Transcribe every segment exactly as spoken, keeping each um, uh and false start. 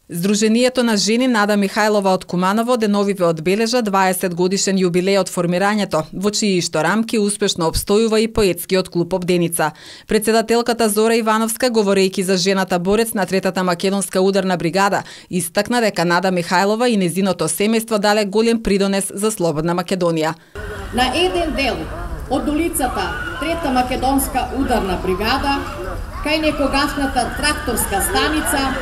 Здруженијето на жени Нада Михајлова од Куманово деновиве одбележа дваесет годишен јубилеј од формирањето, во чии што рамки успешно обстојува и поетскиот клуб Обденица. Председателката Зора Ивановска, говорејќи за жената борец на третата македонска ударна бригада, истакна дека Нада Михајлова и незиното семејство дале голем придонес за слободна Македонија. На еден дел од улицата трета македонска ударна бригада, кај некогашната тракторска станица,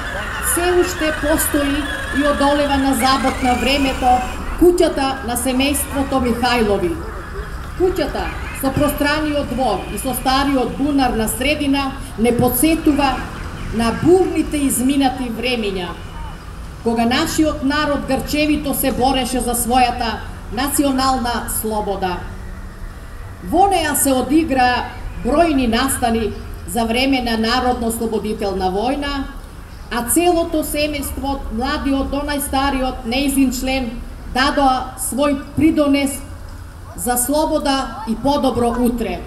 се уште постои и одолева на забот на времето куќата на семејството Михајлови. Куќата со пространиот двор и со стариот бунар на средина не подсетува на бурните изминати времиња, кога нашиот народ грчевито се бореше за својата национална слобода. Во неа се одигра бројни настани за време на Народно-слободителна војна, а целото семејство, младиот до најстариот нејзин член, дадоа свој придонес за слобода и подобро утре.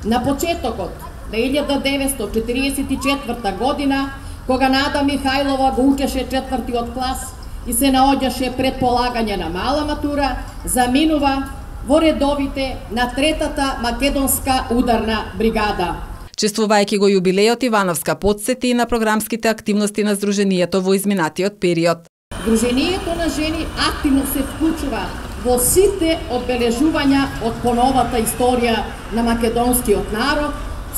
На почетокот на илјада деветстотини четириесет и четврта година, кога Нада Михајлова го учеше четвртиот клас и се наоѓаше пред полагање на мала матура, заминува во редовите на третата македонска ударна бригада. Чествувајќи го јубилејот, Ивановска подсети и на програмските активности на Здруженијето во изминатиот период. Здруженијето на жени активно се вклучува во сите одбележувања од поновата историја на македонскиот народ,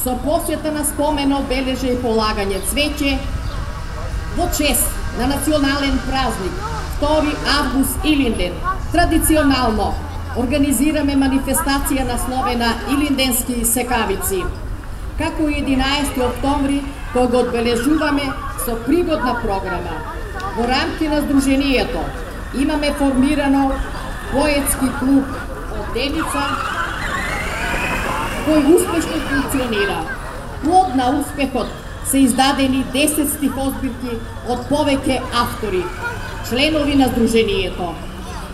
со посвета на спомен обележа и полагање цвеќе во чест на национален празник втори август Илинден. Традиционално организираме манифестација насловена Илинденски секавици, како и единаесети октомври, кој го одбележуваме со пригодна програма. Во рамки на Здруженијето имаме формирано поетски клуб Обденица, кој успешно функционира. Плод на успехот се издадени десет стихозбирки од повеќе автори, членови на Здруженијето.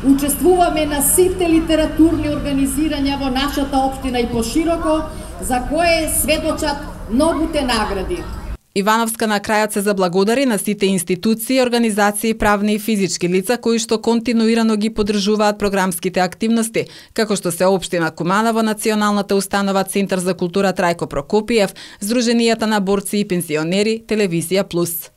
Учествуваме на сите литературни организирања во нашата општина и пошироко, за кое сведочат многуте награди. Ивановска на крајот се заблагодари на сите институции, организации, правни и физички лица кои што континуирано ги поддржуваат програмските активности, како што се општина Куманово, Националната установа Центар за култура Трајко Прокопиев, Здруженијата на борци и пензионери, Телевизија Плюс.